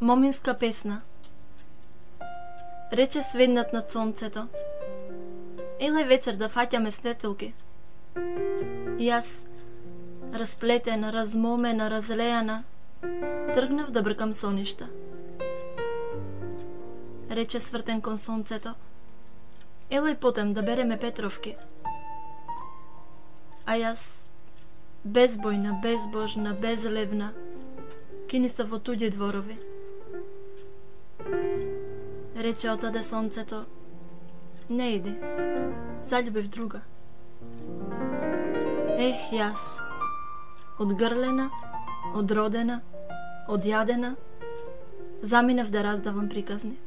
Моминска песна. Рече сведнат над сонцето: елај вечер да фаќаме светилки. И јас, расплетена, размомена, разлејана, тргнав да бркам соништа. Рече свртен кон сонцето: елај потем да береме петровки. А јас, безбојна, безбожна, безлевна, кинистав во туѓи дворови. Рече отаде сонцето: не иди, заљубив друга. Ех, јас, одгрлена, одродена, одјадена, заминав да раздавам приказни.